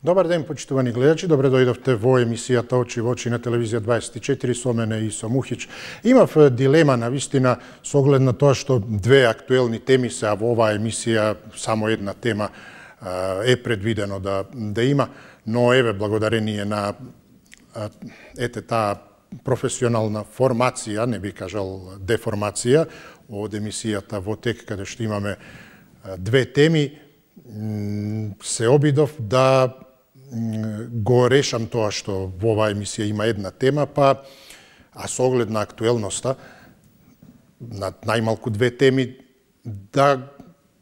Добар ден, почитувани гледачи, добре дојдовте во емисијата Очи во очи на телевизија 24 со мене и со Мухич. Имав дилема на вистина со оглед на тоа што две актуелни теми се, а во оваа емисија само една тема е предвидено да има, но еве благодарение на таа професионална формација, не би кажал деформација, од емисијата во тек каде што имаме две теми, се обидов да го решам тоа што во оваа емисија има една тема, а со оглед на актуелноста, на најмалку две теми, да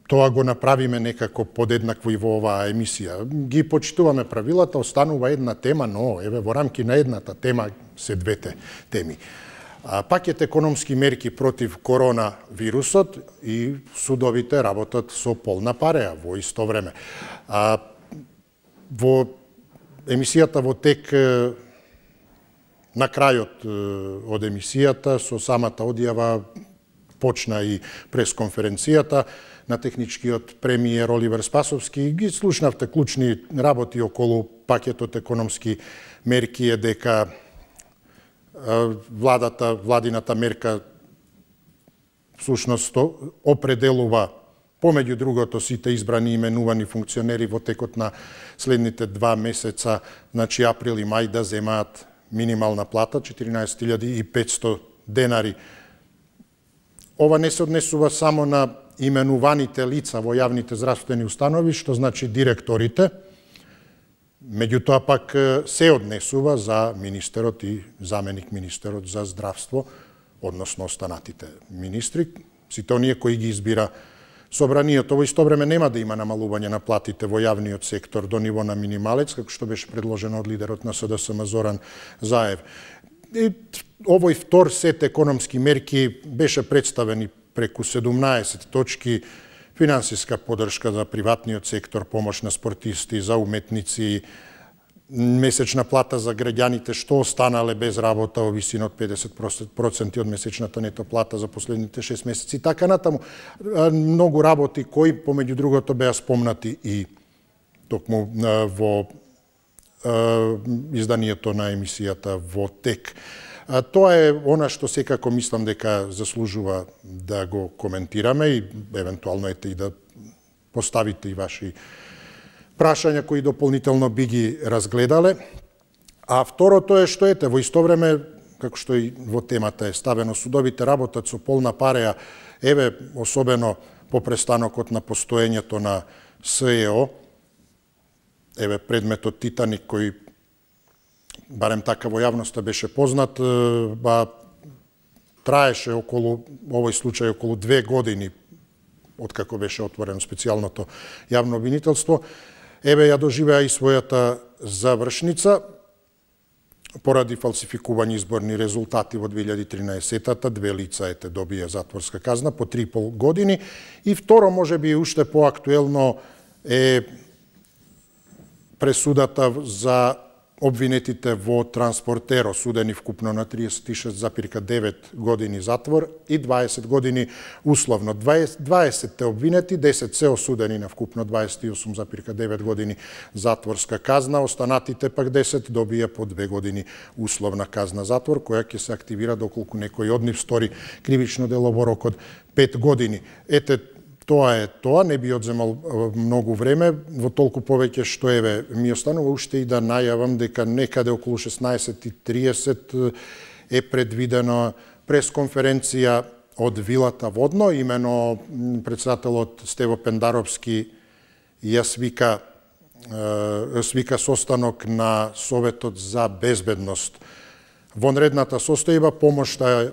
тоа го направиме некако подеднакво и во оваа емисија. Ги почитуваме правилата, останува една тема, но еве во рамки на едната тема се двете теми. Пакет економски мерки против коронавирусот и судовите работат со полна пареа во исто време. Во емисијата во тек, на крајот од емисијата, со самата одјава почна и пресконференцијата на техничкиот премиер Оливер Спасовски. Ги слушнавте клучни работи околу пакетот економски мерки е дека владината мерка всушност определува помеѓу другото сите избрани и именувани функционери во текот на следните 2 месеца, значи април и мај, да земаат минимална плата 14.500 денари. Ова не се однесува само на именуваните лица во јавните здравствени установи, што значи директорите, меѓутоа пак се однесува за министерот и заменик министерот за здравство, односно останатите министри, сите оние кои ги избира Собранието. Во исто време нема да има намалување на платите во јавниот сектор до ниво на минималец, како што беше предложено од лидерот на СДСМ Зоран Заев. Овој втор сет економски мерки беше представен и преку 17 точки: финансиска поддршка за приватниот сектор, помош на спортисти, за уметници, месечна плата за граѓаните што останале без работа во висина од 50% од месечната нето плата за последните 6 месеци и така натаму. Многу работи кои помеѓу другото беа спомнати и токму во изданието на емисијата во тек. Тоа е она што секако мислам дека заслужува да го коментираме и евентуално и да поставите и ваши прашања кои дополнително би ги разгледале. А второто е што во исто време, како што и во темата е ставено, судовите работат со полна пареа, еве особено по престанокот на постоењето на СЕО, еве предметот Титаник кој барем така во јавноста беше познат, траеше околу, овој случај околу 2 години откако беше отворено специјалното јавно обвинителство. Еве ја доживеа и својата завршница поради фалсификување изборни резултати во 2013-та. 2 лица добија затворска казна по 3,5 години. И второ, можеби уште поактуелно е пресудата за обвинетите во Транспортеро, судени вкупно на 36,9 години затвор и 20 години условно. 20 обвинети, 10 се осудени на вкупно 28,9 години затворска казна, останатите пак 10 добија по 2 години условна казна затвор, која ќе се активира доколку некој од нив стори кривично дело во рок од 5 години. Тоа не би одземал многу време, во толку повеќе што ми останува уште и да најавам дека некаде околу 16:30 е предвидено пресконференција од Вилата Водно, имено председателот Стево Пендаровски ја свика состанок на Советот за безбедност. Вонредната состојба, помошта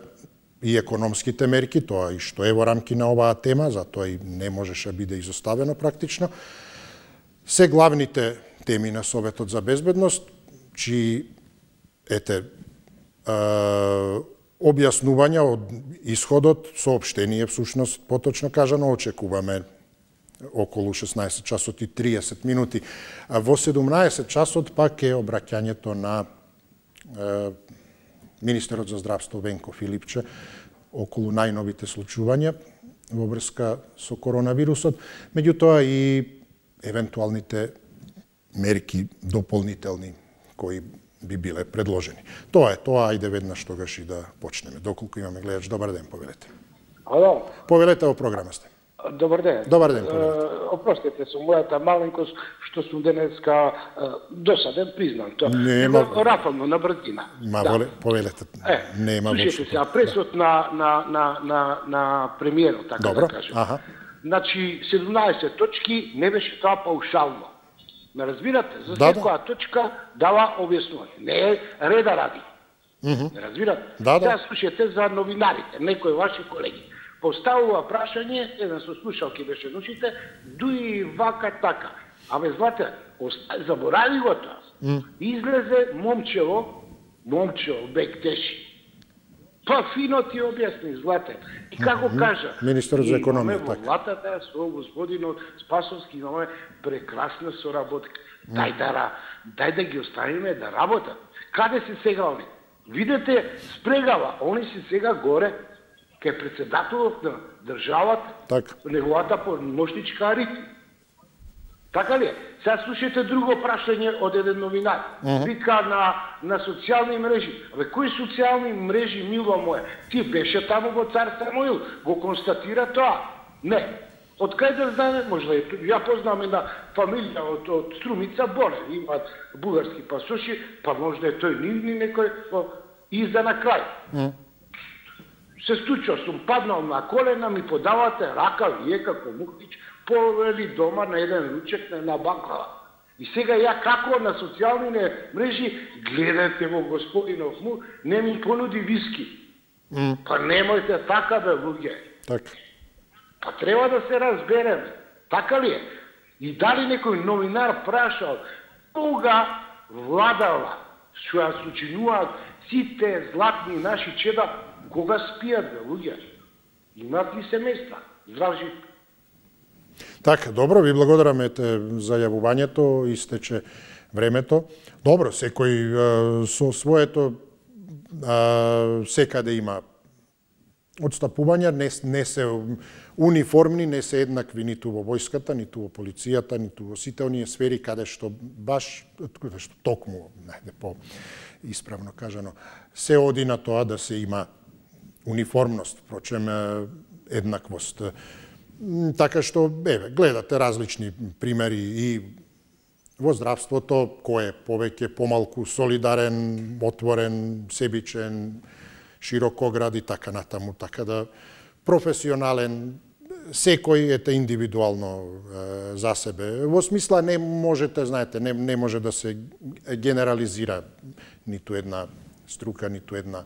и економските мерки, тоа и што е во рамки на оваа тема, затоа и не можеше биде изоставено практично, се главните теми на Советот за безбедност, чии објаснувања од исходот, соопштение, всушност, поточно кажано, очекуваме околу 16 часот и 30 минути. Во 17 часот пак е обраќањето на министерот за здравство Венко Филипче околу најновите случувања во врска со коронавирусот, меѓутоа и евентуалните мерки дополнителни кои би биле предложени. Тоа е тоа, ајде веднаш тогаш и да почнеме. Доколку имаме гледач, добар ден, повелете. Ало. Повелете, во програма сте. Добар ден. Добар ден, повелете. Опростете со мојата маленкост, што сум денеска досаден, признам тоа. Нема. Рафално, на брзина. Ма, повелете, нема воопшто. Слушайте се, пресот на премиерот, така добро, да кажем. Аха. Значи, 17 точки не беше тоа паушално. Ме разбирате? За секоја точка дава објаснување. Не е реда ради. Не разбирате? Сега слушате за новинарите, некои ваши колеги. Поставува прашање, еден со слушалки беше нушите, дуи вака така. Абе, знате, заборави го тоа. Излезе момчево, бек теши. Па фино ти објасни, злате. И како кажа, министерот за економија, така. Влатата со господинот Спасовски имаме прекрасна соработка. Дај да ги оставиме да работат. Каде се сега они? Видете, спрегава, они се сега горе, кај председателот на државата, неговата помошничка ритм. Така ли е? Сега слушате друго прашање од еден новинар. Вика на социјални мрежи. Абе, кои социјални мрежи, мило моје? Ти беше таму во Цар Самуил, го констатира тоа? Не. Од кај да знаме, можда е, ја познам една фамилија од Струмица Боре, имаат бугарски пасоши, па можда е тој нивни некој, и за на крај. Се стучо, сум паднал на колена, ми подавате рака, вие како Мухтич, повели дома на еден ручек на една баклава. И сега ја како на социјалните мрежи гледате во господинов му, не ми понуди виски. Па немојте така бе, луѓе. Така. Па треба да се разбереме. Така ли е? И дали некој новинар прашал кога владава, што ја сочинуваат сите златни наши чеда, кога спијат бе, луѓе? Имат ли семејства? Здрав жив. Така, добро, ви благодараме за јавувањето, истече времето. Добро, секој со своето секаде има одстапувања, не се униформни, не се еднакви ниту во војската, ниту во полицијата, ниту во сите оние сфери каде што баш токму, по исправно кажано, се оди на тоа да се има униформност, впрочем еднаквост. Така што, гледате различни примери и во здравството, кој е повеќе, помалку солидарен, отворен, себичен, широкоград и така натаму, така да професионален, секој ете индивидуално за себе. Во смисла не можете, знаете, не може да се генерализира ниту една струка, ниту една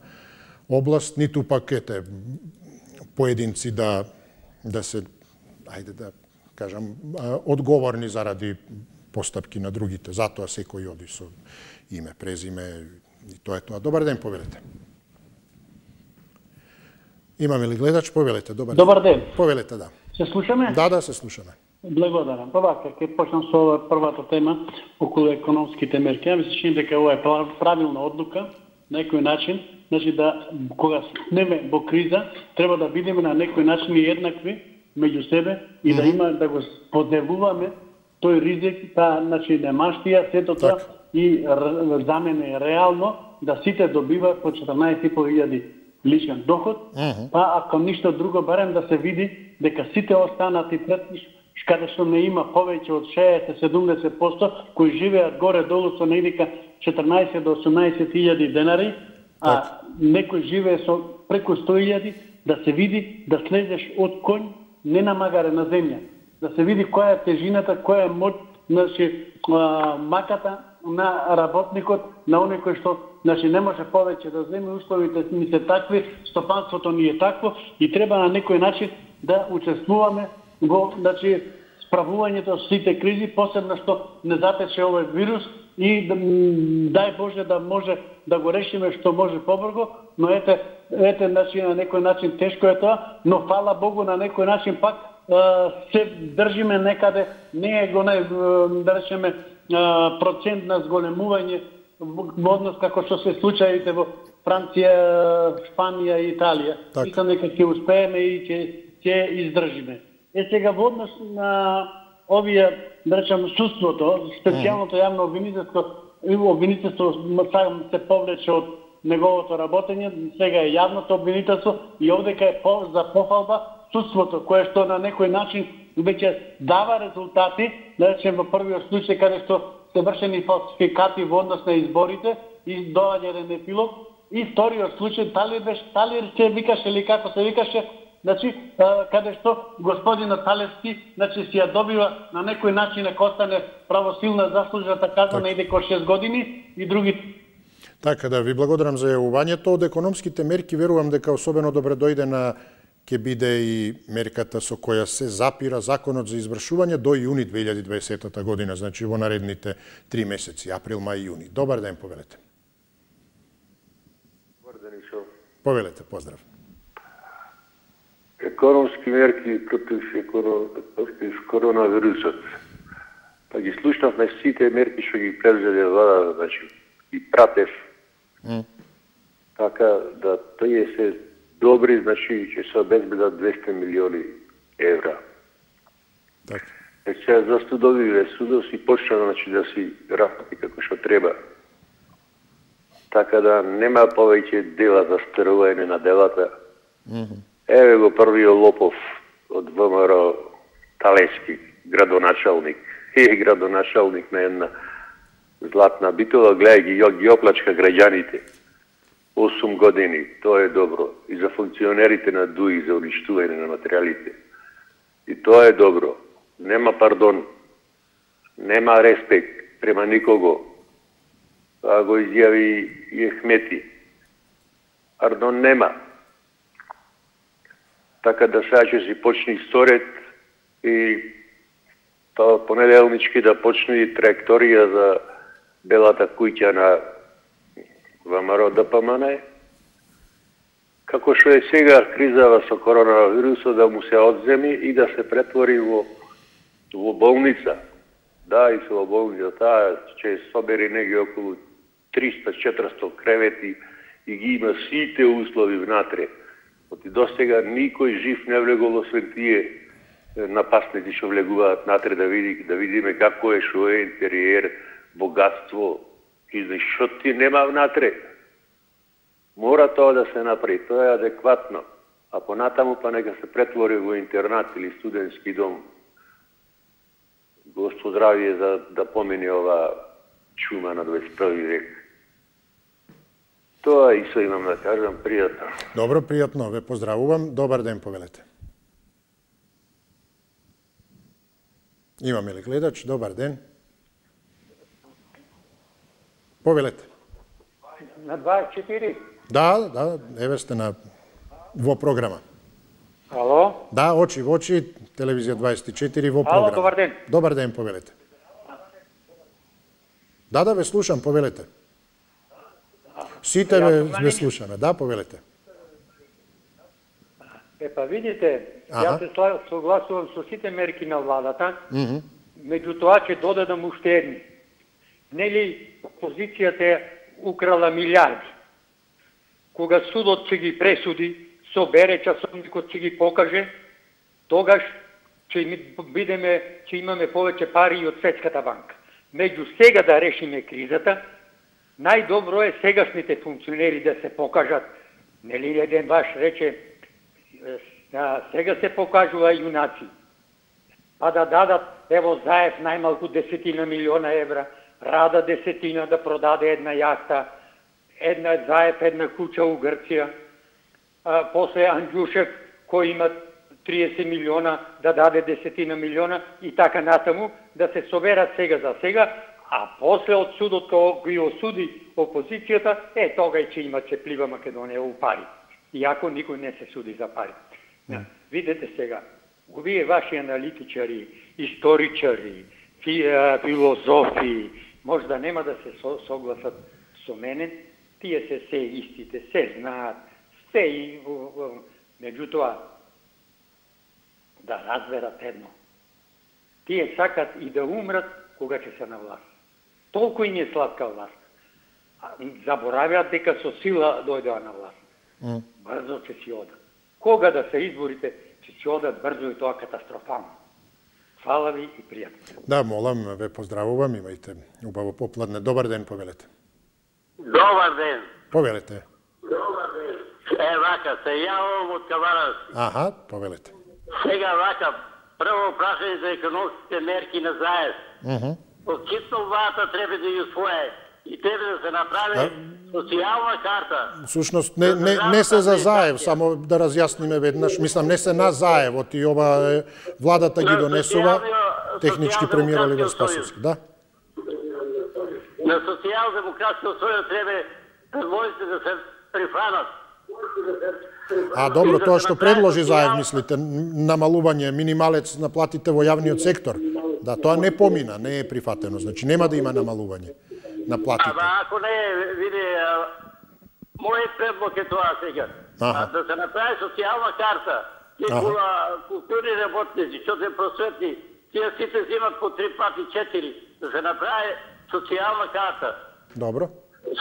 област, ниту пак ете поединци да се, ајде да кажам, одговорни заради постапки на другите. Затоа секој оди со име, презиме и тоа е тоа. Добар ден, повелете. Имаме ли гледач? Повелете. Добар ден. Повелете, да. Се слушаме? Да, се слушаме. Благодарам. Вака, ќе почнам со првата тема околу економските мерки. Ја мислам дека ова е правилна одлука, на некој начин, значи да кога сме во криза, треба да бидеме на некој начин еднакви меѓу себе и да има да го подневуваме тој ризик, значи немаштија, сето тоа и за мене реално да сите добиваат по 14.500 личен доход, па ако ништо друго, барем да се види дека сите останати претиш, каде што не има повеќе од 60-70% кои живеат горе-долу со негдека 14 до 18.000 денари, а некој живее со преку 100.000, да се види да слезеш од конј, не на магаре, на земја. Да се види која е тежината, која е моќ, значи, маката на работникот, на оној кој што значи не може повеќе да земе, условите ми се такви, стопанството ни е такво и треба на некој начин да учествуваме во значи справувањето со сите кризи, посебно што не затече овој вирус и дај Боже да може да го решиме што може побрзо, но ете значи на некој начин тешко е тоа, но фала Богу на некој начин пак се држиме некаде, не е го да речеме процент на зголемување во однос како што се случаите во Франција, Шпанија и Италија. Мислам дека ќе успееме и ќе издржиме. Сега во однос на овие да речем, судството, специјалното јавно обвинителство се повлече од неговото работење, сега е јавното обвинителство и овдека е за пофалба судството, кое што на некој начин веќе дава резултати, да речем во првиот случај каде што се вршени фалсификати во однос на изборите и доаѓа еден епилог, и вториот случај Талир се викаше или како се викаше, значи каде што господинот Талевски значи си ја добива на некој начин дека остане правосилна заслужената казна на иде 6 години и други. Така да ви благодарам за јавувањето. Од економските мерки верувам дека особено добре дојде на ќе биде и мерката со која се запира законот за извршување до јуни 2020 година, значи во наредните 3 месеци, април, мај и јуни. Добар ден, повелете. Добар ден, Ишо. Повелете, поздрав. Економски мерки против коронавирусот. Па ги слушнавме сите мерки што ги презеде влада, значи и пратев. Така да тие се добри, значи ќе се обезбедат 200 милиони евра. Така. Сега за судовиве, судов си почна значи да си работи како што треба. Така да нема повеќе дела за стерување на делата. Еве го првиот лопов од ВМРО Талевски, градоначалник. Градоначалник на една Златна Битола, гледај ги оплачка граѓаните. 8 години, тоа е добро. И за функционерите на ДУИ, за уништување на материјалите. И тоа е добро. Нема пардон, нема респект према никого. Тоа го изјави и Ехмети. Пардон нема. Така да сега ќе си почне исторет и понеделнички да почне и траекторија за белата куќа на ВМРО ДПМН. Како што е сега кризава со коронавирусот, да му се одземи и да се претвори во болница. Да, и со болница таа ќе собери неги околу 300-400 кревети и ги има сите услови внатре. Оти досега никој жив не влегол освен тие напасници што влегуваат натре да видиме како е, што е интериер, богатство и што ти нема внатре. Мора тоа да се направи, тоа е адекватно. А понатаму па нека се претвори во интернат или студентски дом. Господ здравие за да помине ова чума на 21 век. Тоа и со имам да кажам, пријатно. Добро, пријатно, ве поздравувам. Добар ден, повелете. Имаме ли гледач? Добар ден. Повелете. На 24? Да, еве сте во програма. Ало? Да, очи во очи, телевизија 24 во програма. Ало, добар ден. Добар ден, повелете. Да, ве слушам, повелете. Сите ве слушаме, да, повелете. Па видите, јас се согласувам со сите мерки на владата, меѓутоа ќе додадам уште едни. Нели опозицијата украла милиарди. Кога судот ќе ги пресуди, собере часовникот ќе ги покаже, тогаш ќе имаме повеќе пари и од Светската банка. Меѓу сега да решиме кризата, најдобро е сегашните функционери да се покажат. Нели еден ваш рече, сега се покажува јунаци. Па да дадат, ево Заев најмалку 10 милиона евра, Рада 10 да продаде една јахта, една Заев, една куќа у Грција, после Анđушев кој има 30 милиона да даде 10 милиона и така натаму, да се соберат сега за сега, а после од судот кој осуди опозицијата, тога ќе има цеплива Македонија у пари. Иако никој не се суди за пари. Видете сега, овие ваши аналитичари, историчари, филозофи, можда нема да се согласат со мене, тие се истите, се знаат, се и меѓутоа да разберат едно. Тие сакат и да умрат кога ќе се на власт. Толку им е сладка власт. Забораваат дека со сила дојдоа на власт. Брзо ќе си одат. Кога да се изборите, ќе си одат брзо и тоа катастрофално. Фала ви и пријатно. Да, молам, ве поздравувам, имајте убаво попладне. Добар ден, повелете. Добар ден. Повелете. Вака, се јавам од Каварас. Аха, повелете. Сега вака, прво прашање за економските мерки на заед. Од Китновата треба да ја усвое и треба да се направи социјална карта. Всушност, не се за заев, само да разјасниме веднаш. Мислам, не се на заевот и ова владата ги донесува, технички премиер Оливер Спасовски. Да? На социјал-демократска условија треба предложите да се прифанат. Добро, тоа што предложи заев, мислите, намалување минималец на платите во јавниот сектор. Да, тоа не помина, не е прифатено, значи нема да има намалување на платите. Ако не, види, мојот предлог е тоа сега. Да се направи социјална карта, тие културни работници, што се просветни, тие сите взимат по 3 пати 4, да се направи социјална карта. Добро.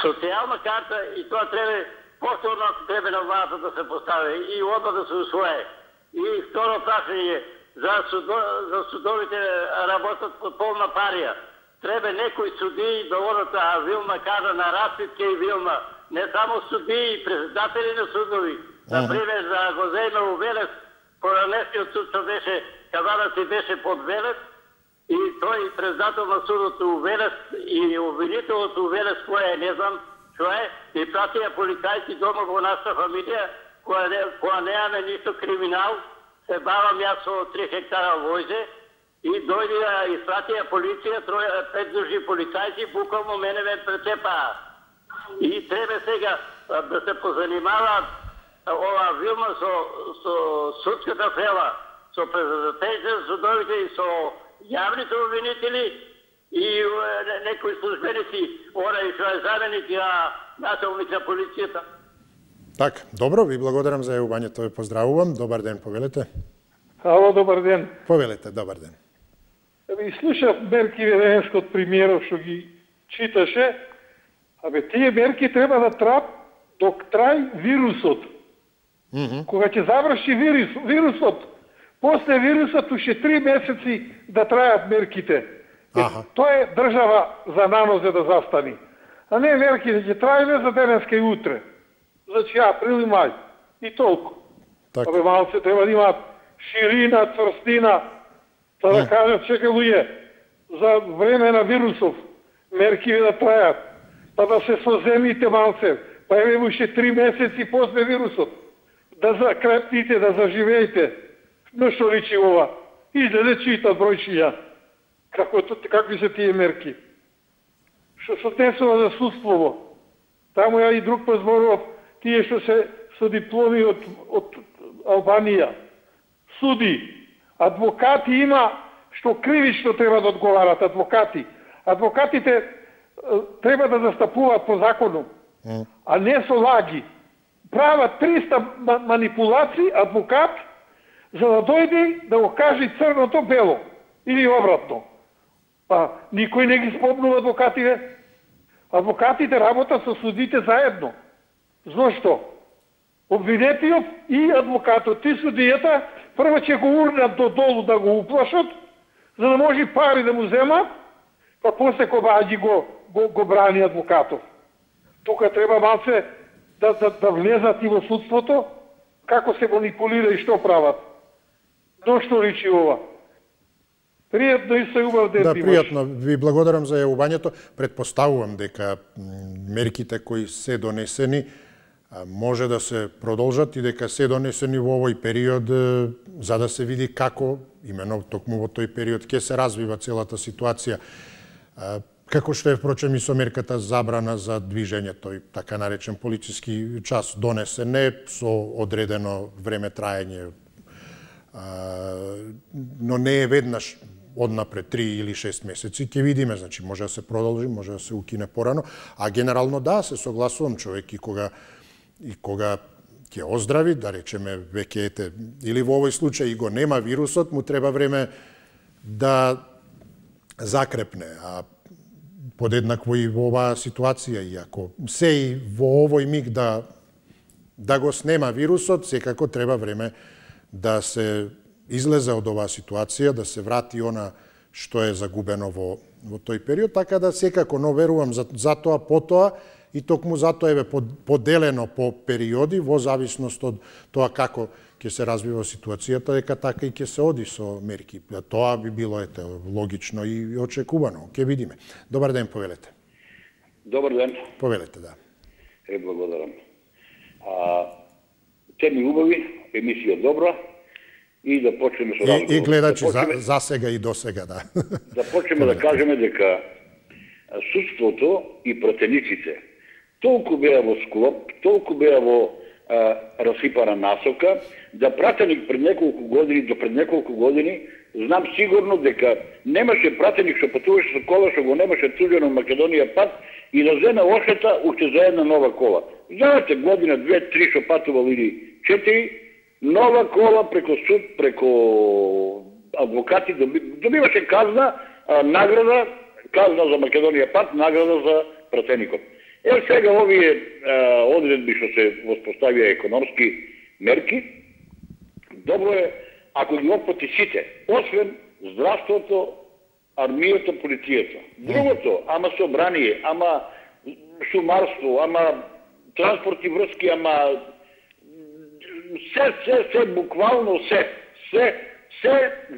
Социјална карта и тоа треба повторно треба на владата да се постави и одма да се усвое. И второ прашање за судовите работат под полна парија. Треба некои судии да одат, Вилма кажа, на разпитке и Вилма. Не само судии, председатели на судови. Например, за го земе у Велес, поранешниот суд што беше, Каварас и беше под Велес, и тој председател на судот у Велес и обвинителот у Велес, кој е, не знам, што е, и пратија полицајци дома во нашата фамилија, која неаме ништо криминал, се бавам јас со 3 хектара војзе, и дојдија и пратија полиција, 5 души полицајци, буквално мене ме прецепаа. И треба сега да се позанимаваат ова Вилма со судската фела, со председателите на судовите и со јавните обвинители и некои службеници, и што е заменик на началник на полицијата. Така, добро, ви благодарам за јавувањето, ве поздравувам. Добар ден, повелете. Ало, добар ден. Повелете, добар ден. И слушав мерки веденскот премиеров што ги читаше, тие мерки треба да траат док трај вирусот. Кога ќе заврши вирусот, после вирусот уште 3 месеци да трајат мерките. Тоа е држава за нанозе да застани. А не мерките ќе трајат за денеска и утре. Значи април и мај. И толку. Малце треба да имаат ширина, цврстина, да кажат, чекај луѓе, за време на вирусов мерки да трајат, па да се соземите малце, па еве уште 3 месеци после вирусот, да закрепните, да заживеете. Но што личи ова? Излезе читат бројчиња. Какви се тие мерки? Што се однесува за судствово? Таму ја и друг позборував, тие што се со дипломи од Албанија. Суди. Адвокати има што кривично треба да одговарат адвокати. Адвокатите треба да застапуваат по закону, а не со лаги. Прават 300 манипулации адвокат за да дојде да го каже црното бело или обратно. Па никој не ги спомнува адвокатите. Адвокатите работат со судите заедно. Зошто? Обвинетиот и адвокатот и судијата прво ќе го урнат до долу да го уплашат, за да може пари да му земат, па после кога го брани адвокатов. Тука треба малце да влезат и во судството, како се манипулира и што прават. Но што личи ова? Пријатно и се убав ден. Да, пријатно. Ви благодарам за јавувањето. Предпоставувам дека мерките кои се донесени може да се продолжат и дека се донесени во овој период за да се види како, именно токму во тој период, ќе се развива целата ситуација. Како што е, впрочем, и со мерката забрана за движење, тој така наречен полициски час донесен е со одредено време траење, но не е веднаш однапред 3 или 6 месеци, ќе видиме, значи може да се продолжи, може да се укине порано, а генерално да, се согласувам, човек и кога ќе оздрави, да речеме, веќе ете, или во овој случај и го нема вирусот, му треба време да закрепне, а подеднакво и во оваа ситуација, и ако се и во овој миг да го снема вирусот, секако треба време да се излезе од оваа ситуација, да се врати она што е загубено во тој период, така да секако, но верувам за тоа потоа и токму затоа е поделено по периоди во зависност од тоа како ќе се развива ситуацијата, дека така и ќе се оди со мерки. Тоа би било логично и очекувано. Ќе видиме. Добар ден, повелете. Добар ден. Повелете, да. Благодарам. Теми убави, емисија добра и да почнеме со разговор. И гледачи за сега и до сега, да. Да почнеме да кажеме дека судството и пратениците толку беа во склоп, толку беа во расипана насока, да пратеник пред неколку години, знам сигурно дека немаше пратеник што патуваше со кола, што го немаше туѓено Македонија пат и да земе ошета уште за една нова кола. Знаете, година, 2-3 што патувал или 4, нова кола преко суд, преко адвокати, добиваше казна, награда, казна за Македонија пат, награда за пратеникот. Сега овие одредби што се воспоставија економски мерки, добро е ако ги опфати сите, освен здравството, армијата, полицијата. Другото, ама собрание, ама шумарство, ама транспорт и врски, ама се, буквално се,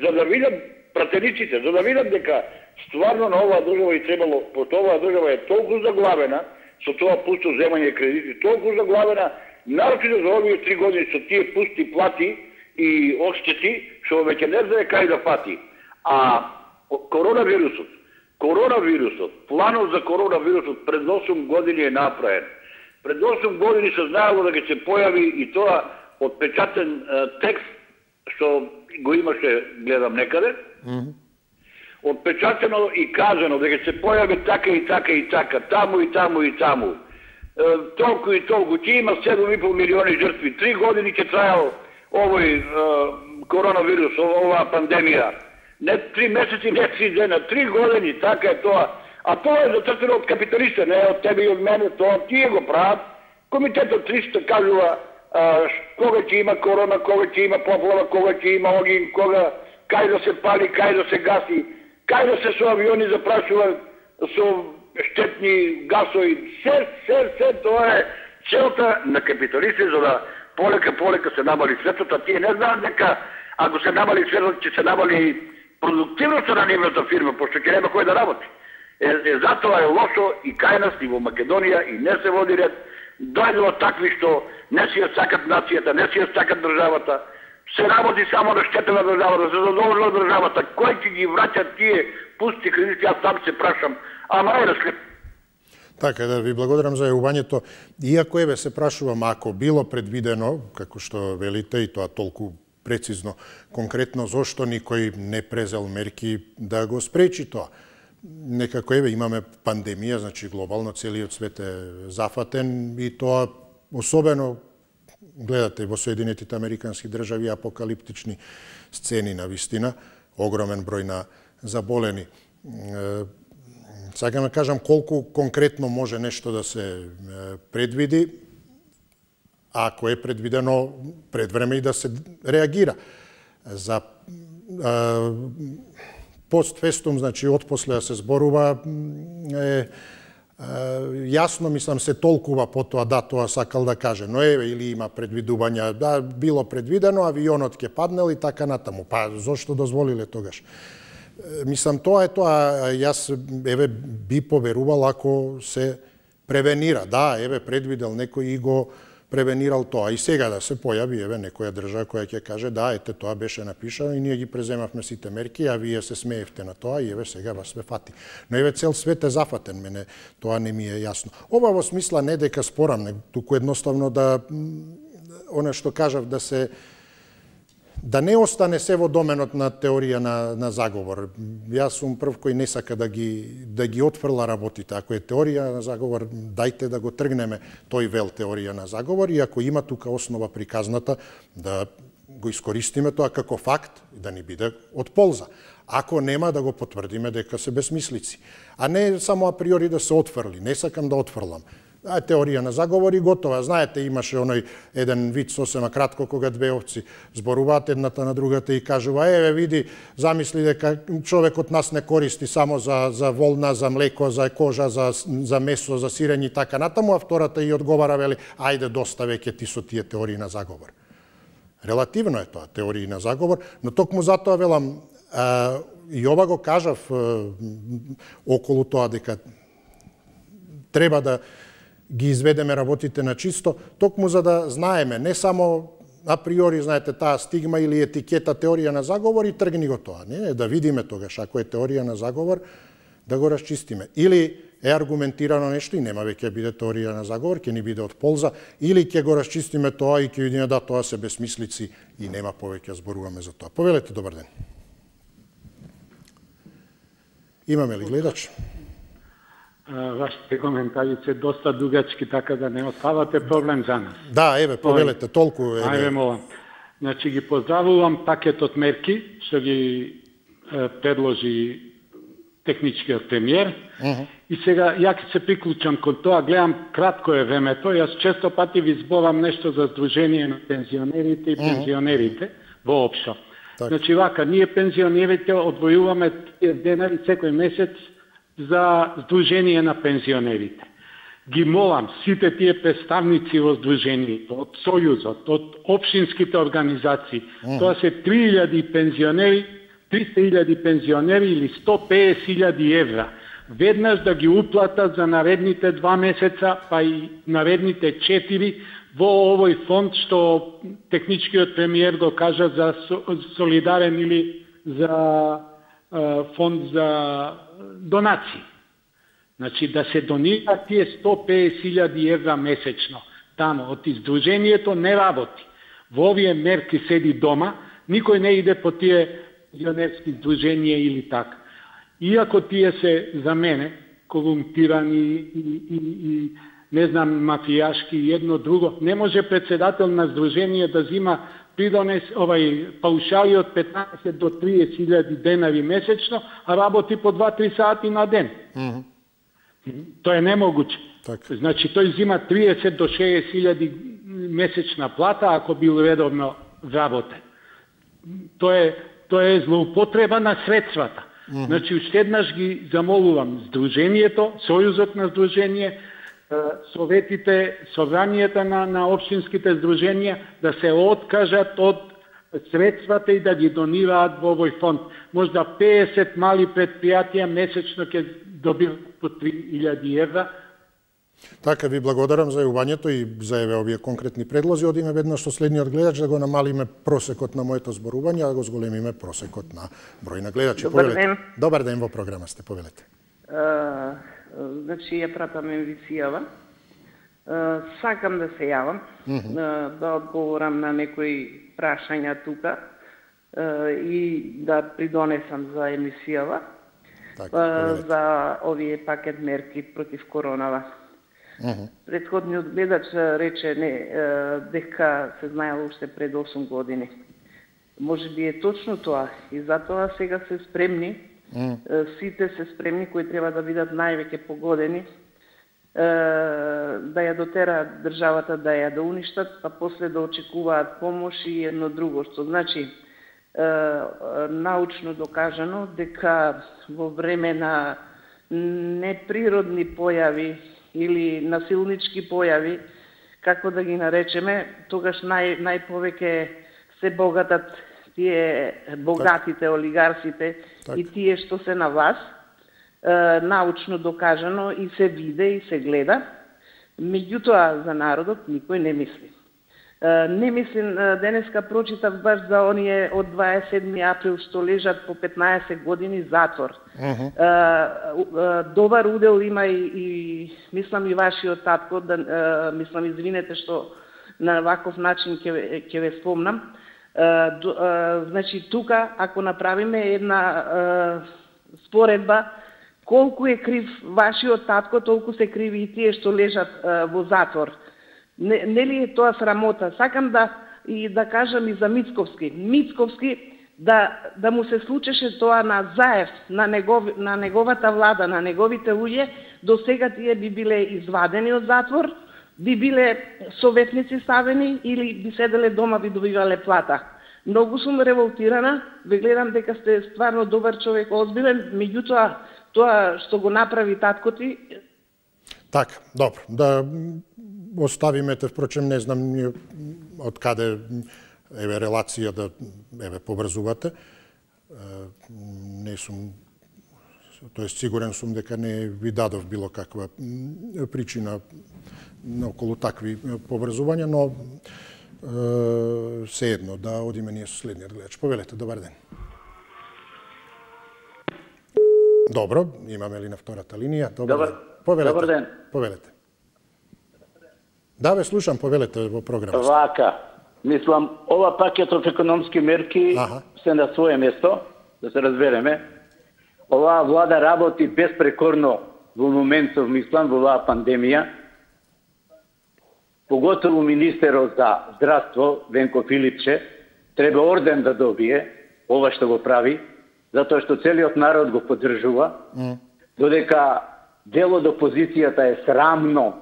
за да видат пратениците, за да видат дека стварно на оваа држава и требало, пошто оваа држава е толку заглавена, со тоа пусто земање кредити, толку заглавена, нарочито за овие 3 години со тие пусти плати и одштети, што веќе не знае кај да фати. А коронавирусот, планот за коронавирусот пред 8 години е направен. Пред 8 години се знаело дека ќе се појави и тоа отпечатен текст, што го имаше, гледам некаде, отпечатено и казано дека ќе се појави така и така и така, таму и таму и таму. Толку и толку, ќе има 7,5 милиони жртви. 3 години ќе трајал овој коронавирус, оваа пандемија. Не 3 месеци, не 3 дена, 3 години, така е тоа. А тоа е зацртено од капиталиста, не од тебе и од мене, тоа тие го прават. Комитетот 300 кажува кога ќе има корона, кога ќе има поплава, кога ќе има огин, кога кај да се пали, кај да се гаси, кај да се со авиони запрашува со штетни гасови. Се тоа е целта на капиталисти, за да полека се намали светот, а тие не знаат дека ако се намали светот, ќе се намали продуктивноста на нивната фирма, пошто ќе нема кој да работи. Затоа е лошо и кај нас, и во Македонија, и не се води ред. Дојдува такви што не си ја сакат нацијата, не си ја сакат државата, се работи само на штета на државата, се задолжува државата. Кој ќе ги враќа тие пусти кредити, јас сам се прашам, ама е раслеп. Така, да ви благодарам за јавувањето. Иако еве се прашувам, ако било предвидено, како што велите, и тоа толку прецизно, конкретно, зошто никој не презел мерки да го спречи тоа? Некако еве имаме пандемија, значи глобално целиот свет е зафатен и тоа особено гледате во Соединетите Американски држави апокалиптични сцени на вистина, огромен број на заболени. Сакам да кажам колку конкретно може нешто да се предвиди, ако е предвидено пред време и да се реагира. За постфестум, значи отпосле да се зборува, јасно, мислам, се толкува по тоа, да, тоа сакал да каже, но еве, или има предвидувања, да, било предвидено, авионот ќе паднел и така натаму. Па, зошто дозволиле тогаш? Мислам, тоа е тоа, јас, еве, би поверувал ако се превенира. Да, еве, предвидел некој и го превенирал тоа. И сега да се појави, еве, некоја држава која ќе каже, да, ете, тоа беше напишано и ние ги преземавме сите мерки, а вие се смеевте на тоа и еве, сега вас све фати. Но еве, цел свет е зафатен, мене тоа не ми е јасно. Ова во смисла не дека спорам, туку едноставно да, она што кажав, да не остане се во доменот на теорија на заговор. Јас сум прв кој не сака да ги отфрла работите. Ако е теорија на заговор, дајте да го тргнеме тој вел теорија на заговор и ако има тука основа приказната, да го искористиме тоа како факт и да ни биде од полза. Ако нема, да го потврдиме дека се безмислици. А не само априори да се отфрли. Не сакам да отфрлам. теорија на заговор и готова. Знаете, имаше оној еден вид сосема кратко кога две овци зборуваат едната на другата и кажува: еве види, замисли дека човекот нас не користи само за волна, за млеко, за кожа, за месо, за сирење и така натаму, а втората и одговара, вели: ајде доста веќе ти со тие теории на заговор. Релативно е тоа, теории на заговор, но токму затоа велам, и ова го кажав околу тоа дека треба да ги изведеме работите на чисто, токму за да знаеме, не само априори, знаете, таа стигма или етикета теорија на заговор и тргни го тоа. Не, да видиме тогаш, ако е теорија на заговор, да го расчистиме. Или е аргументирано нешто и нема веќе биде теорија на заговор, ќе ни биде од полза, или ќе го расчистиме тоа и ќе видиме да тоа се безсмислици и нема повеќе зборуваме за тоа. Повелете, добар ден. Имаме ли гледач? Вашите коментари се доста дугачки, така да не оставате проблем за нас. Да, еве, повелете, толку. Ајде, молам. Значи, ги поздравувам пакетот мерки, што ги предложи техничкиот премиер. И сега, ја ќе се приклучам кон тоа, гледам кратко е времето, јас често пати ви зборам нешто за Сдружение на пензионерите и пензионерите воопшто. Значи, вака, ние пензионерите одвојуваме денари секој месец за Сдружение на пензионерите. Ги молам сите тие представници во Сдружението, од Сојузот, од општинските организации, тоа се 3000 пензионери, 300.000 пензионери или 150.000 евра. Веднаш да ги уплатат за наредните 2 месеца, па и наредните 4 во овој фонд што техничкиот премиер го кажа за солидарен или за фонд за донации. Значи да се донираат тие 150.000 евра месечно. Тамо, од Сдружението не работи. Во овие мерки седи дома, никој не иде по тие пензионерски сдруженија или така. Иако тие се за мене корумпирани и не знам, мафијашки и едно друго, не може председател на сдружение да зима придонес паушали од 15 до 30.000 денари месечно, а работи по 2-3 сати на ден. Тоа е немогуче. Значи, тој зима 30 до 60.000 месечна плата, ако бил редовно работен. Тоа е злоупотреба на средствата. Значи, уште еднаш ги замолувам Сдружението, Сојузот на Сдружение, советите, собранијата на општинските сдруженија да се откажат од средствата и да ги донираат во овој фонд. Можда 50 мали предпријатија месечно ќе добиват по 3.000 евра. Така, ви благодарам за јавувањето и за овие конкретни предлози. Одиме веднаш со следниот гледач да го намалиме просекот на моето зборување, а да го зголемиме просекот на број на гледачи. Добар ден. Добар ден, во програма сте, повелете. Значи, ја пратам емисијава. Сакам да се јавам, да одговорам на некои прашања тука и да придонесам за емисијава за овие пакет мерки против коронава. Предходниот гледач рече дека се знаело уште пред 8 години. Може би е точно тоа и затоа сега се спремни, сите се спремни кои треба да бидат највеќе погодени, да ја дотераат државата, да ја да уништат, па после да очекуваат помош и едно друго, што значи научно докажано дека во време на неприродни појави или насилнички појави, како да ги наречеме, тогаш најповеќе се богатат тие богатите олигарсите и тие што се на власт, научно докажано и се виде и се гледа. Меѓутоа за народот никој не мисли. Не мислим, денеска прочитав баш за оние од 27. април што лежат по 15 години затвор. Добар удел има и мислам и вашиот татко, мислам, извинете што на ваков начин ќе ве спомнам. Значи тука, ако направиме една споредба, колку е крив вашиот татко, толку се криви и тие што лежат во затвор. Нели е тоа срамота? Сакам да кажам и за Мицковски. Мицковски да му се случеше тоа на Заев, на неговата влада, на неговите луѓе, до сега тие би биле извадени од затвор, би биле советници ставени или би седеле дома, би добивале плата. Многу сум револтирана, ве гледам дека сте стварно добар човек, озбилен, меѓутоа тоа што го направи татко ти. Така, добро, да оставиме те, впрочем не знам од каде еве релација да еве побрзувате. Не сум, тоест сигурен сум дека не ви дадов било каква причина околу такви побрзувања, но се едно да одиме ние со следниот гледач. Повелете, добар ден. Добро, имаме ли на втората линија? Добар ден. Повелете. Да, ве слушам, повелете во програмата. Вака, мислам, ова пакетов економски мерки се на свое место, да се разбереме. Оваа влада работи безпрекорно во моментов, мислам, во оваа пандемија. Поготово министерот за здравство, Венко Филипче, треба орден да добие ова што го прави, затоа што целиот народ го поддржува, додека дел од опозицијата е срамно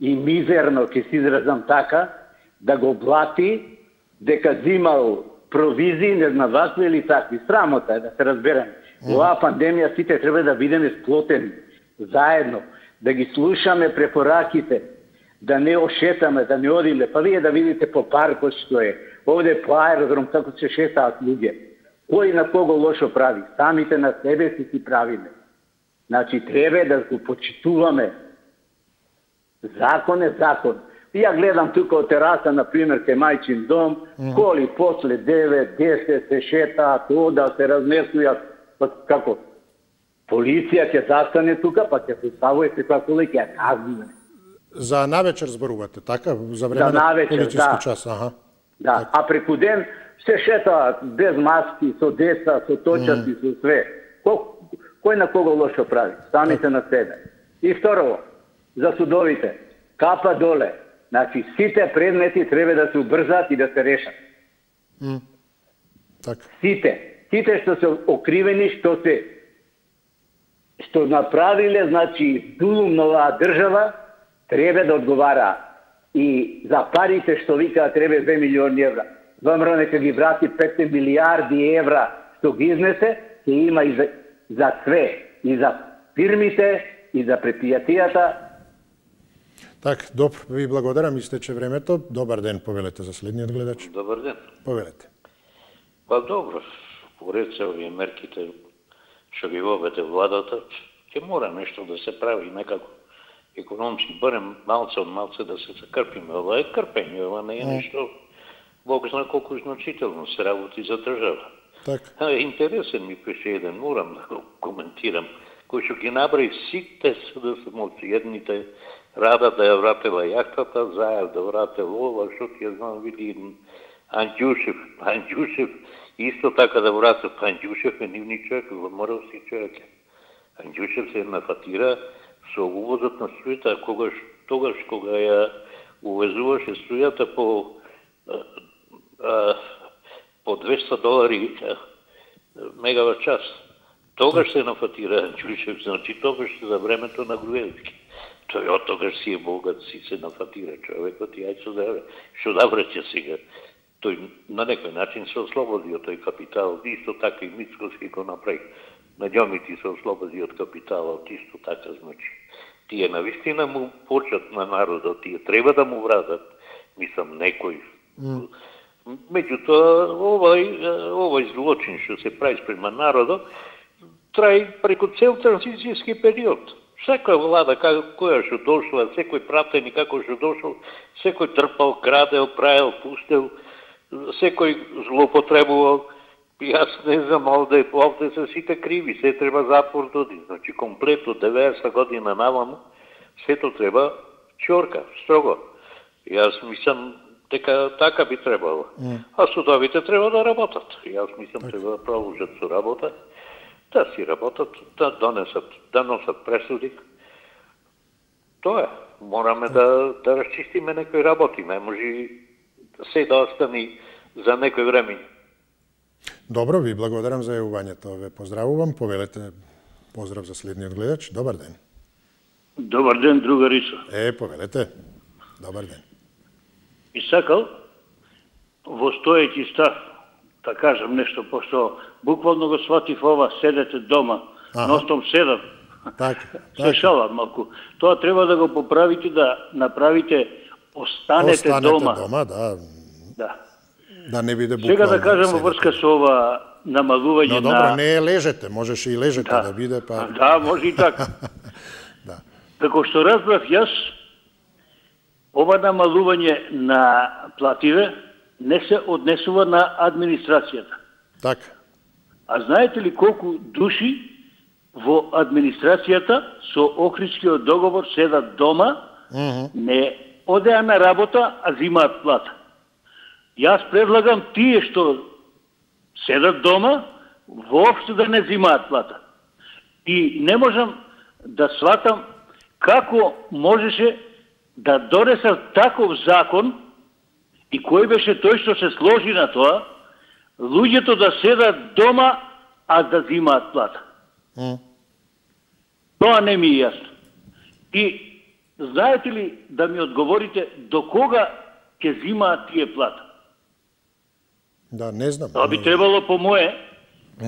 и мизерно, ќе се изразам така, да го блати дека зимал провизии, не знам вакви или такви. Срамота е, да се разберем. Оваа пандемија сите треба да бидеме сплотени заедно, да ги слушаме препораките, да не ошетаме, да не одиме. Па вие да видите по паркот што е. Овде по аеродром како се шетаат луѓе. Кој на кого лошо прави? Самите на себе си правиме. Значи, треба да го почитуваме. Закон е закон. Ја гледам тука од тераса, например, кај мајчин дом, коли после 9, 10 се шетаат, одат, се разнесујат. Како? Полиција ќе застане тука, па ќе поставува секоја кола и ќе ја казнува. За навечер зборувате, така? За време на полициски час, Да, а преку ден се шетаат без маски, со деца, со точаци, со све. Кој на кого лошо прави? Самите на себе. И второ, за судовите, капа доле. Значи, сите предмети треба да се убрзат и да се решат. Сите што се окривени, што направиле, значи, дулум на оваа држава, треба да одговара. И за парите што викаат треба 2 милиони евра. ВМРО нека ги врати 5 милиарди евра што ги изнесе, ќе има и за све. И за фирмите, и за предпријатијата. Так, добро, ви благодарам, истече времето. Добар ден, повелете за следниот гледач. Добар ден. Повелете. Па добро, поред се овие мерките што ги воведе владата, ќе мора нешто да се прави некако економски, барем малце од малце да се закрпиме. Ова е крпење, ова не е нешто, Бог зна колку значително се работи за држава. Интересен ми пише еден, морам да го коментирам, кој што ги набрави сите СДСМовци, едните Рада да ја вратела јахтата, Заев да врател ова, што ти ја знам, види Анđушев, исто така да врател, Анđушев е нивни човек, ВМРО-вски човек. Анđушев се нафатира со увозот на струјата, тогаш кога ја увезуваше струјата по $200 мегават час. Тогаш се нафатира Анđушев, значи тогаш за времето на Груевски. Тој од тогаш си е богат, си се нафатира човекот и ајде што да враќа сега. Тој на некој начин се ослободи од тој капитал, исто така и Мицкоски го направи. Наѓомити се ослободи од капиталот, исто така, значи. Тие навистина му почат на народот, тие треба да му вратат, мислам, некој. Меѓутоа, овој злочин што се прави спрема народот, траи преку цел транзицијски период. Секоја влада која што дошла, секој пратени како што дошол, секој трпал, крадел, правил, пустел, секој злоупотребувал. Јас не знам, овде се сите криви, се треба затвор доди. Значи, комплет од 90 година наваму, сето треба чорка, строго. Јас мислам дека така би требало. А судовите треба да работат. Јас мислам треба да продолжат со работа, да си работат, да носат пресуди. Тоа е. Мораме да расчистиме некои работи. Не може се да остани за некој време. Добро, ви благодарам за јавувањето. Ве поздравувам. Повелете поздрав за следниот гледач. Добар ден. Добар ден, другаричо. Повелете. Добар ден. И сакал во стоејќи став да кажам нешто, пошто буквално го сватив ова, седете дома, ностом седам. Се шалам малку. Тоа треба да го поправите, да направите останете дома. Да не биде буквално. Сега да кажам во врска со ова намалување на... Но добро, не лежете, можеше и лежете да биде, па... Да, може и така. Како што разбрав јас, ова намалување на плативе не се однесува на администрацијата. Така. А знаете ли колку души во администрацијата со Охридскиот договор седат дома, не одеа на работа, а зимаат плата? Јас предлагам тие што седат дома, воопшто да не зимаат плата. И не можам да сватам како можеше да донесат таков закон и кој беше тој што се сложи на тоа, луѓето да седат дома, а да зимаат плата. Тоа не ми е јасно. И знаете ли да ми одговорите до кога ќе зимаат тие плата? Да, не знам. Тоа би требало по мое,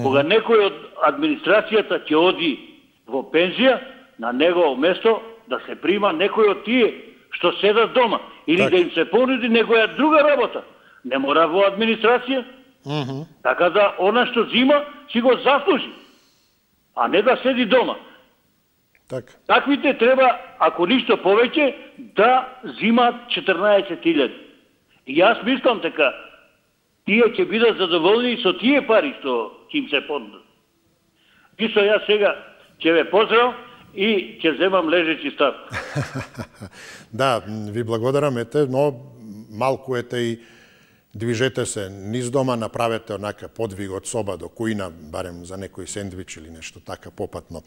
кога некој од администрацијата ќе оди во пензија, на негово место да се прима некој од тие што седат дома. Или да им се понуди некоја друга работа. Не мора во администрација. Така да она што зима си го заслужи. А не да седи дома. Таквите треба, ако ништо повеќе, да зимаат 14.000. И јас мислам така, тие ќе бидат задоволни со тие пари што ќе им се понудат. И со јас сега ќе ве поздрав и ќе земам лежечи став. Да, ви благодарам, но малку и движете се низ дома, направете онака подвиг од соба до кујна, барем за некој сендвич или нешто така попатно.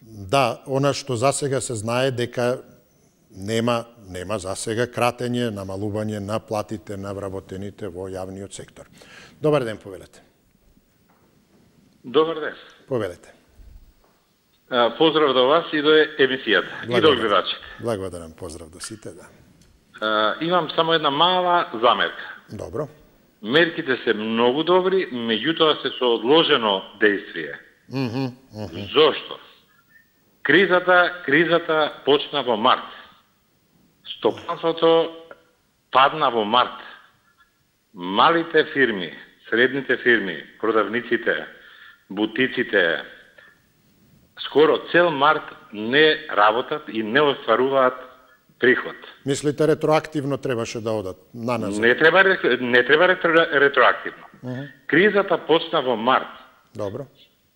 Да, она што засега се знае дека нема засега кратење, намалување на платите на вработените во јавниот сектор. Добар ден, повелете. Добар ден. Повелете. Поздрав до вас и до емисијата, и до гледачите. Благодарам, поздрав до сите, да. Имам само една мала замерка. Добро. Мерките се многу добри, меѓутоа се со одложено дејствие. Зошто? Кризата почна во март. Стопанството падна во март. Малите фирми, средните фирми, продавниците, бутиците, скоро цел март не работат и не остваруваат приход. Мислите ретроактивно требаше да одат наназад? Не треба ретроактивно. Кризата почна во март. Добро.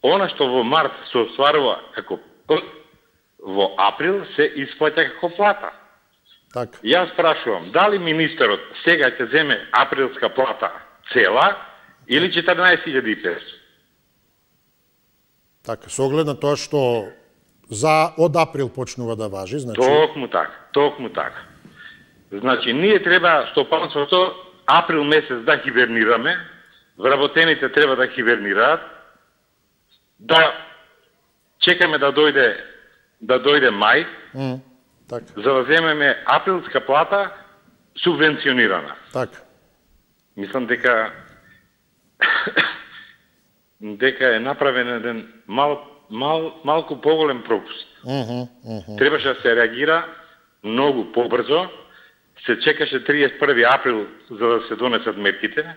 Она што во март се остварува како во април се исплаќа како плата. Така. Јас прашувам, дали министерот сега ќе земе априлска плата цела или 14.500? Така, со оглед на тоа што од април почнува да важи, значи... Токму така. Значи, ние треба стопанството април месец да хибернираме, вработените треба да хибернираат, да чекаме да дојде мај, за да земеме априлска плата субвенционирана. Така. Мислам дека е направен еден малку поголем пропуст. Требаше да се реагира многу побрзо, се чекаше 31 април за да се донесат мерките,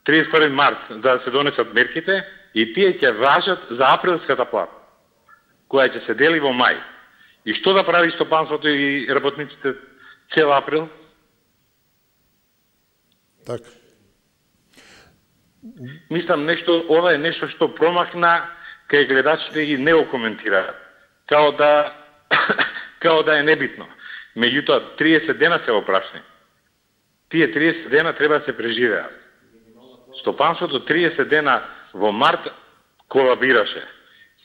31 март за да се донесат мерките и тие ќе важат за априлската плата, која ќе се дели во мај. И што да прави стопанството и работниците цел април? Така. Мислам, ова е нешто што промахна кај гледачите и не го коментираат. Као да е небитно. Меѓутоа, 30 дена се опрашни. Тие 30 дена треба да се преживеат. Стопанството 30 дена во март колабираше.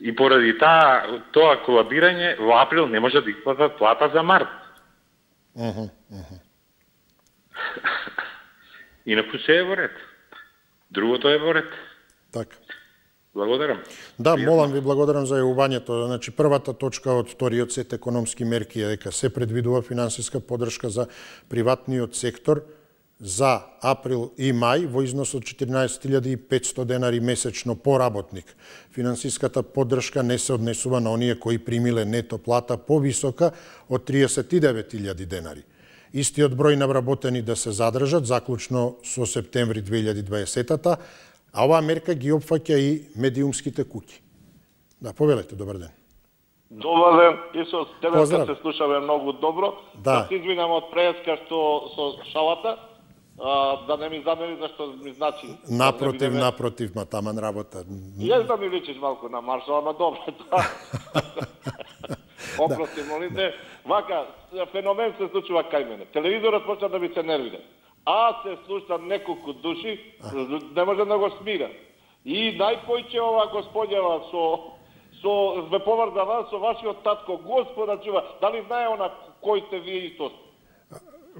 И поради тоа колабирање во април не може да исплатат плата за март. Инаку се е во ред. Другото е во ред. Така. Благодарам. Да, молам ви, благодарам за јавувањето. Значи, првата точка од вториот сет економски мерки е дека се предвидува финансиска поддршка за приватниот сектор за април и мај во износ од 14.500 денари месечно по работник. Финансиската поддршка не се однесува на оние кои примиле нето плата повисока од 39.000 денари. Истиот број на вработени да се задржат заклучно со септември 2020-та, а оваа мерка ги опфаќа и медиумските куќи. Да, повелете, добар ден. Добар ден, Исус, тебе се слушаме многу добро. Да се извинам од преска што со шалата, да не ми замери зашто ми значи. Напротив, ма таман работа. Јас да ми личиш малку на Маршал, ама добро. Опрости, молите. Вака, феномен се случува кај мене. Телевизорот почна да ми се нервира. Се слуша неколку души, не може да го смира. И најпојче ова господјава со ве поврзава со вашиот татко, Господа чува, дали знае она кој сте вие исто?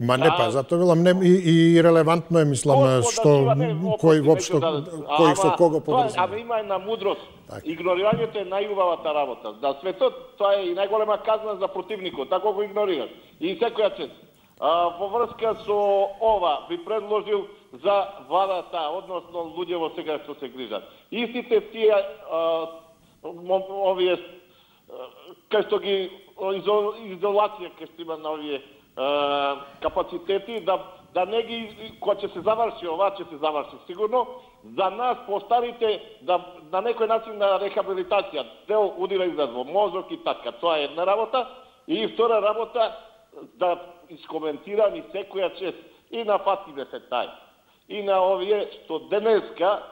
Ма не па, затоа велам и релевантно е, мислам, што кој воопшто кој со кого поврзува. Ама има една мудрост. Игнорирањето е најубавата работа. За светот тоа е и најголема казна за противникот, така го игнорираш. И секоја чест. Во врска со ова би предложил за владата, односно луѓево сега што се грижат. Истите тие овие кај што ги изолација кај што има на овие капацитети, да не ги, кога ќе се заврши ова, ќе се заврши сигурно, за нас постарите да на некој начин на рехабилитација, дел удира излез во мозок и така, тоа е една работа, и втора работа да искоментирам и секоја чест и на Фатиме Фетај, и на овие што денеска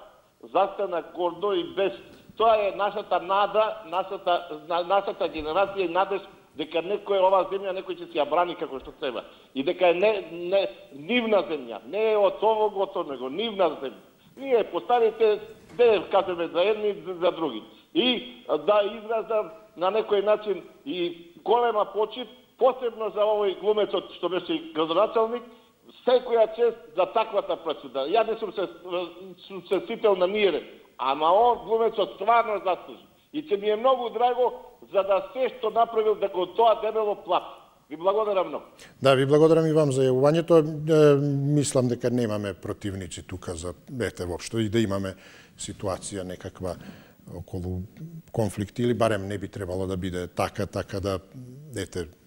застана гордо и без. Тоа е нашата нада, нашата генерација и надеж дека некој оваа земја некој ќе си ја брани како што треба. И дека е не нивна земја, не е од овог од него, нивна земја. Ние постарите да кажеме за едни за други. И да изразам на некој начин и голема почит, посебно за овој глумецот што беше градоначалник, секоја чест за таквата пресуда. Ја не сум се сител на мирен, ама он глумецот стварно заслужи. И ќе ми е многу драго за да се што направил да го тоа дебело плати. Ви благодарам многу. Да, ви благодарам и вам за јавувањето. Мислам дека немаме противници тука за воопшто и да имаме ситуација некаква околу конфликт или барем не би требало да биде така да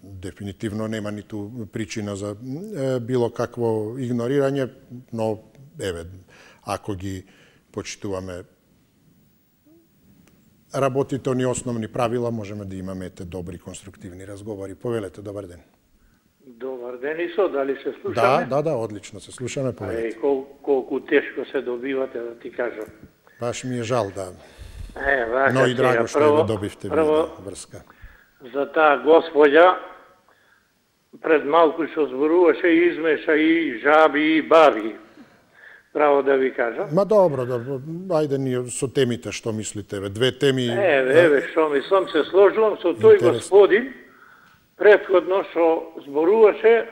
дефинитивно нема ниту причина за било какво игнорирање, но ако ги почитуваме работите они основни правила, можеме да имаме добри конструктивни разговори. Повелете, добар ден. Добар ден, Исо, дали се слушаме? Да, одлично се слушаме, повелете. Колку тешко се добивате, да ти кажам. Баш ми е жал, да. Но и драго што ја добивте врска. За таа господја, пред малку што зборуваше, измеша и жаби и баби. Право да ви кажам. Ма добро, ајде ние со темите, што мислите? Две теми... што мислам, се сложувам со тој господин, предходно што зборуваше,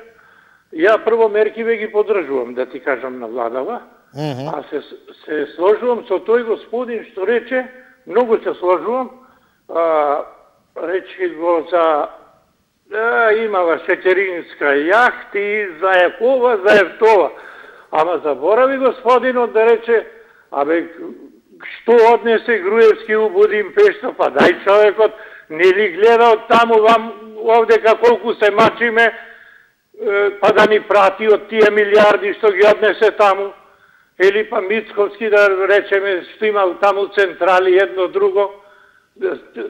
ја прво меркиве ги поддржувам, да ти кажам, на владава, а се сложувам со тој господин што рече, многу се сложувам, рече го за имала шеќеринска јахти, за ова, за ефтова. Ама заборави господинот да рече, што однесе Груевски у Будимпешта, па дај човекот, не ли гледа од таму овдека колку се мачиме, па да ни прати од тие милиарди што ги однесе таму, или па Мицковски да речеме што има таму централи едно друго.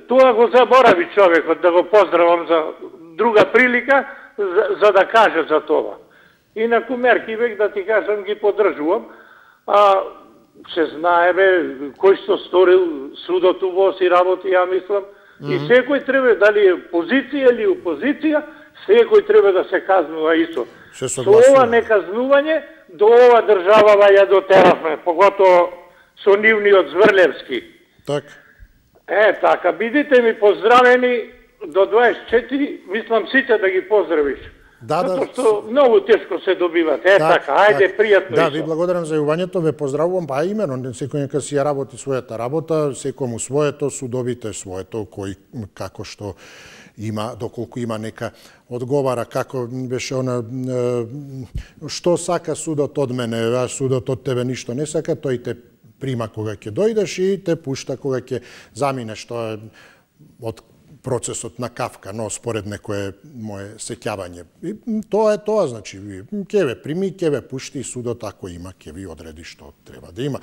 Тоа го заборави човекот, да го поздравам за друга прилика, за да каже за тоа. Инаку мерки век, да ти кажам, ги поддржувам, се знае кој што сторил судот увоз и работи, ја мислам, и секој треба, дали е позиција или опозиција, секој треба да се казнува исто. Со ова неказнување, до ова држава ја дотеравме, поготово со нивниот Зврлевски. Така. Така, бидите ми поздравени до 24, мислам сите да ги поздравиш. Затоа што многу тешко се добиват. Така, ајде, пријатно. Да, ви благодарам за јавувањето, ве поздравувам, па имено, секој нека си ја работи својата работа, секому своето, судовите своето, кој како што има, доколку има нека одговара, како беше она, што сака судот од мене, а судот од тебе ништо не сака, тој те прима кога ќе дојдеш и те пушта кога ќе заминеш, тоа е од процесот на Кафка, но според некое мое сеќавање. И тоа е тоа, значи, ќе ве прими, ќе ве пушти и судот, ако има, ќе ви одреди што треба да има.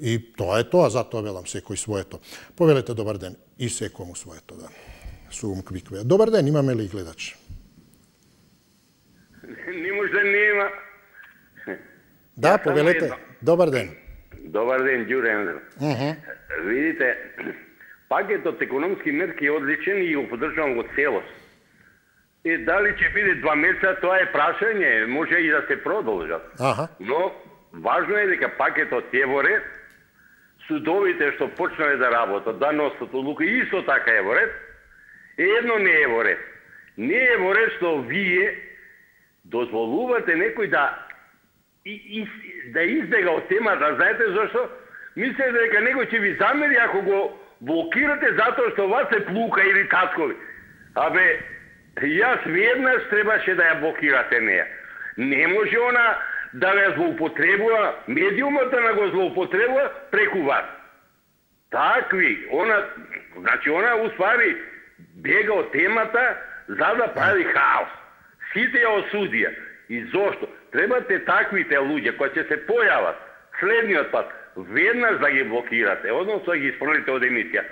И тоа е тоа, затоа велам секој своето. Повелете добар ден и секому своето, да. Сум Квикве. Добар ден, имаме ли гледач? Не може да нема. Да, повелете. Добар ден. Добар ден, Ѓуре. Видите, пакетот економски мерки е одличен и го поддржувам го целост. И дали ќе биде 2 месеца, тоа е прашање, може и да се продолжат. Но важно е дека пакетот е во ред, судовите што почнале да работат, да носат одлуки, исто така е во ред. Едно не е во ред. Не е во ред што вие дозволувате некој да избега од темата. Знаете зашто? Мислите дека некој ќе ви замери ако го блокирате затоа што вас се плука или тацкови. Абе, јас веднаш требаше да ја блокирате неја. Не може она да ве злоупотребува, медиумот да го злоупотребува преку вас. Такви, значи она уствари бега од темата за да прави хаос. Сите ја осудија. И зошто? Требате таквите луѓе кои ќе се појават следниот пат, веднаш да ги блокирате, односно да ги испрнете од емисија.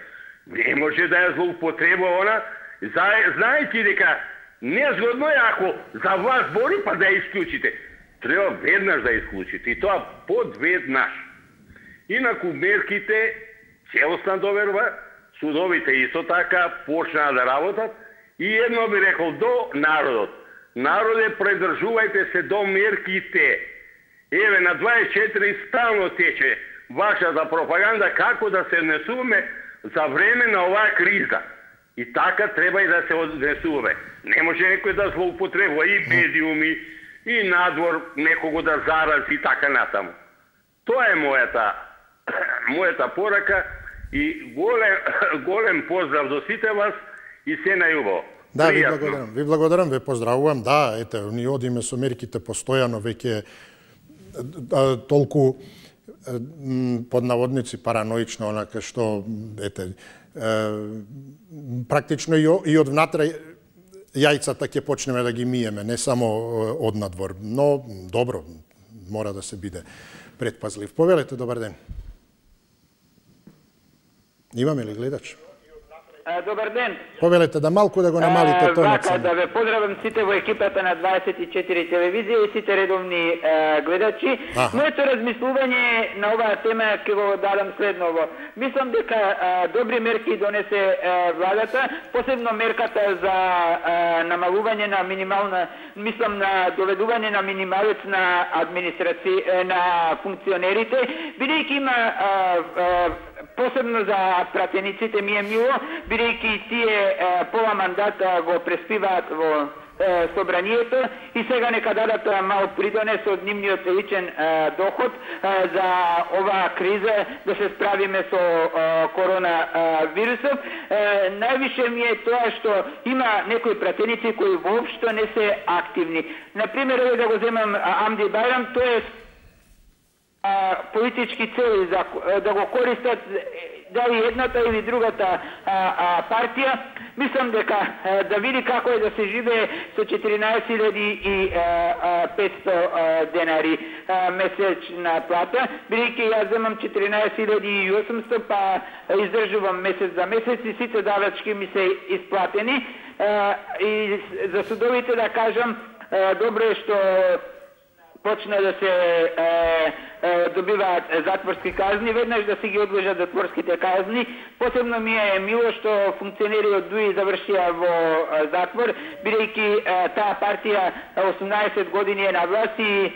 Не може да ја злоупотребува она, знаејќи дека незгодно е ако за вас бори, па да ја исклучите. Треба веднаш да ја исклучите. И тоа подведнаш. Инаку мерките, целосна доверба, судовите исто така почнаа да работат и едно би рекол до народот. Народе, предржувајте се до мерките. Еве, на 24 стално тече вашата пропаганда како да се однесуваме за време на оваа криза. И така треба и да се однесуваме. Не може некој да злоупотребува и медиуми, и надвор некого да зарази и така натаму. Тоа е мојата порака и голем поздрав до сите вас и се најубаво. Да, ви благодарам, ве поздравувам. Да, ете, ние одиме со мерките постојано, веќе толку под наводници параноично, онака што, ете, практично и од внатре јајцата ќе почнеме да ги миеме, не само од надвор. Но, добро, мора да се биде предпазлив. Повелете, добар ден. Имаме ли гледач? Добар ден. Повелете да малку да го намалите тонот. Вака, да ве поздравам сите во екипата на 24 телевизија и сите редовни гледачи. Моето размислување на оваа тема ќе го дадам следново. Мислам дека добри мерки донесе владата, посебно мерката за намалување на минимална, мислам на доведување на минималец на администрација, на функционерите, бидејќи има посебно за пратениците ми е мило, бидејќи тие пола мандата го преспиваат во собранието и сега нека дадат мал придонес од нивниот личен доход за оваа криза да се справиме со коронавирусот. Највише ми е тоа што има некои пратеници кои воопшто не се активни. Например, да го земам Амди Бајрам, тој е политички цели да го користат дали едната или другата партија. Мислам дека да види како е да се живее со 14.500 денари месечна плата, бидејќи јас земам 14.800, па издржувам месец за месец и сите давачки ми се исплатени. И за судовите да кажам, добро е што почна да се добиваат затворски казни, веднаш да се ги одлежат затворските казни. Посебно ми е мило што функционери од ДУИ завршија во затвор, бидејќи таа партија 18 години е на власт и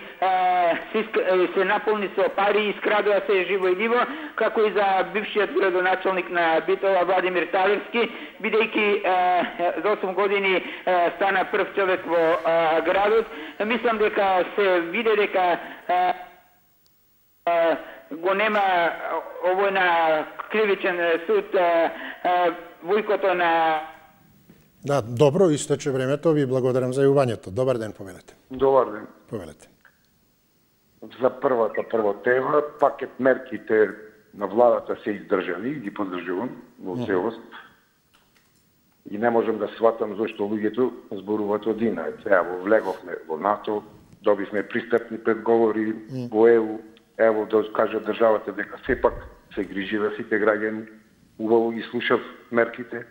се наполни со пари и скрадува се живо и диво, како и за бившиот градоначалник на Битола Владимир Талевски, бидејќи за 8 години стана прв човек во градот. Мислам дека се виде дека го нема овој на кривичен суд војкото на... Да, добро, истече времето, ви благодарам за јавувањето. Добар ден, повелете. Добар ден. Повелете. За прва тема, пакет мерките на владата се издржани и ги поддржувам во целост. И не можам да сватам зашто луѓето зборуваат од Сега влеговме во НАТО, добивме пристапни предговори во ЕУ, ево да кажа државата дека сепак се грижи за сите граѓани, убаво ги слушав мерките,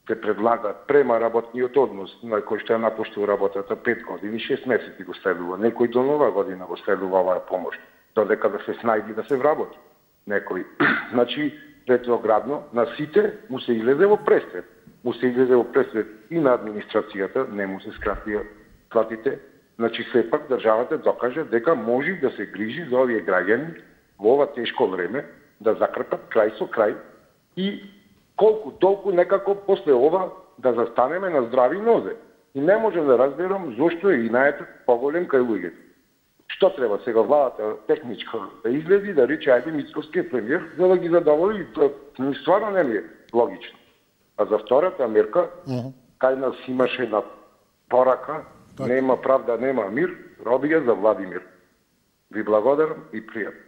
се предлага према работниот однос на кој што ја напуштил работата 5 години, 6 месеци го следува. Некој до нова година го следува оваа помош, додека да се снајди да се вработи. Некој, значи, ретроградно на сите му се излезе во престрет. Му се излезе во престрет и на администрацијата, не му се скратија платите. Значи, сепак државата докаже дека може да се грижи за овие граѓани во ова тешко време, да закрпат крај со крај и колку толку некако после ова да застанеме на здрави нозе. И не можем да разберам зошто е инаетот поголем кај луѓето. Што треба сега владата техничка да излези да рече ајде Мицковскиот премиер за да ги задоволи, тоа стварно не ми е логично. А за втората мерка, кај нас имаше една порака, нема правда, нема мир, роби ја за Владимир. Ви благодарам и пријатно.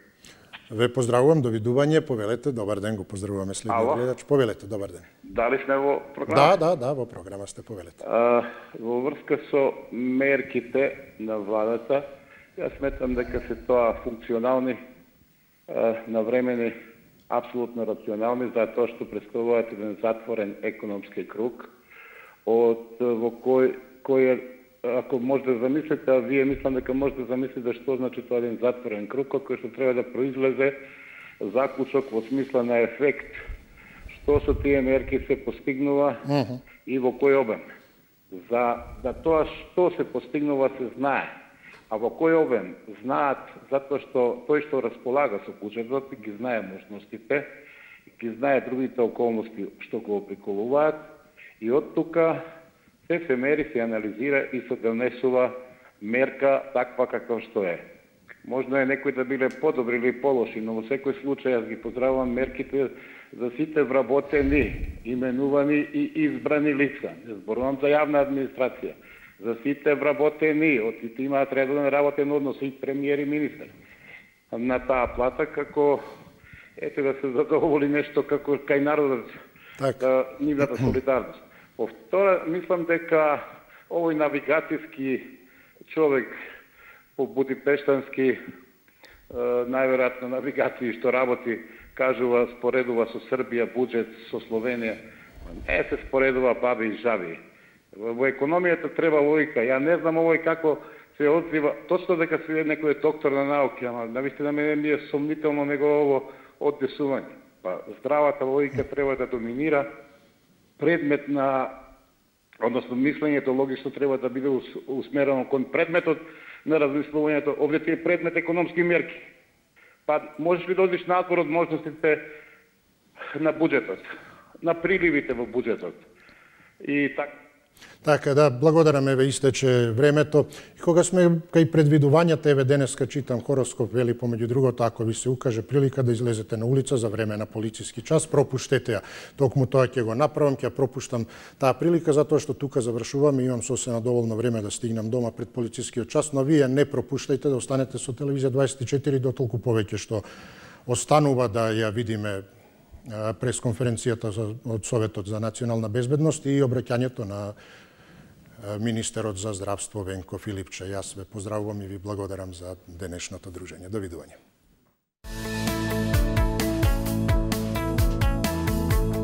Ве поздравувам, довидување, повелете, добар ден, го поздравуваме следниот гледач. Повелете, добар ден. Дали сме во програма? Да, во програма сте, повелете. Во врска со мерките на владата, јас сметам дека се тоа функционални, навремени, апсолутно рационални, затоа што представуваат еден затворен економски круг, во кој ако може да замислите, а вие мислам дека може да замислите што значи тоа еден затворен круг, од кој што треба да произлезе заклучок во смисла на ефект, што со тие мерки се постигнува и во кој обем. За да тоа што се постигнува се знае, а во кој обем знаат затоа што тој што располага со буџетот ги знае можностите, ги знае другите околности што го приколуваат и од тука се мери, се анализира и се донесува мерка таква каква што е. Можно е некои да биле подобри или полоши, но во секој случај јас ги поздравувам мерките за сите вработени, именувани и избрани лица. Не зборувам за јавна администрација. За сите вработени, од сите имаат редовен работен однос и премиер и министер. На таа плата како ете да се задоволи нешто како кај народот, нивната солидарност. Во втора, мислам дека овој навигацијски човек по Будипештански, најверојатно навигација што работи, кажува, споредува со Србија, буџет со Словенија. Не се споредува баби и жаби. Во економијата треба логика. Ја не знам овој како се одзива, точно дека се некој доктор на науки, ама навистина мене ми е сомнително негово оддесување. Па здравата логика треба да доминира. Предмет на, односно мислењето логично треба да биде усмерено кон предметот на размислувањето. Овде ти е предмет економски мерки. Па можеш ли да одиш надвор од можностите на буџетот, на приливите во буџетот. И така. Така, да, благодарам, еве истече времето. И кога сме кај предвидувањата, еве денеска читам хороскоп, вели помеѓу другото, ако ви се укаже прилика да излезете на улица за време на полициски час, пропуштете ја. Токму тоа ќе го направам, ќе пропуштам таа прилика, затоа што тука завршувам и имам сосема доволно време да стигнам дома пред полицискиот час, но вие не пропуштајте да останете со телевизија 24 дотолку повеќе што останува да ја видиме пресконференцијата од Советот за национална безбедност и обраќањето на министерот за здравство Венко Филипче. Јас ве поздравувам и ви благодарам за денешното дружење. Довидување.